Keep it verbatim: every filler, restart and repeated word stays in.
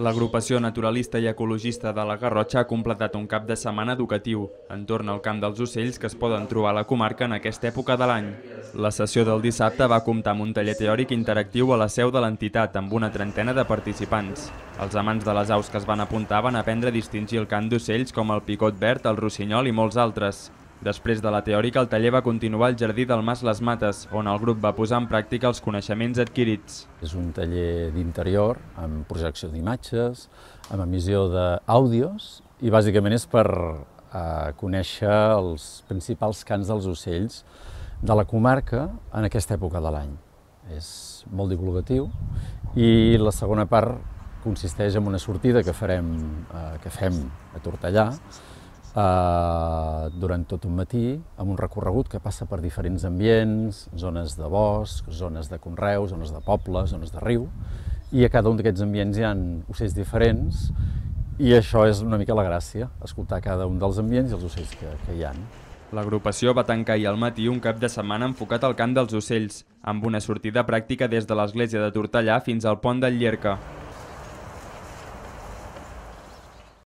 L'agrupació naturalista i ecologista de la Garrotxa ha completat un cap de setmana educatiu entorn al Camp dels Ocells que es poden trobar a la comarca en aquesta època de l'any. La sessió del dissabte va comptar amb un taller teòric interactiu a la seu de l'entitat amb una trentena de participants. Els amants de les aus que es van apuntar van aprendre a distingir el cant d'ocells com el picot verd, el rossinyol i molts altres. Després de la teòrica, el taller va continuar al jardí del Mas Les Mates, on el grup va posar en pràctica els coneixements adquirits. És un taller d'interior, amb projecció d'imatges, amb emissió d'àudios, i bàsicament és per eh, conèixer els principals cants dels ocells de la comarca en aquesta època de l'any. És molt divulgatiu i la segona part consisteix en una sortida que, farem, eh, que fem a Tortellà, Uh, durant tot un matí, amb un recorregut que passa per diferents ambients, zones de bosc, zones de conreu, zones de poble, zones de riu, i a cada un d'aquests ambients hi ha ocells diferents, i això és una mica la gràcia, escoltar cada un dels ambients i els ocells que, que hi ha. L'agrupació va tancar ahir al matí un cap de setmana enfocat al cant dels ocells, amb una sortida pràctica des de l'església de Tortellà fins al pont del Llierca.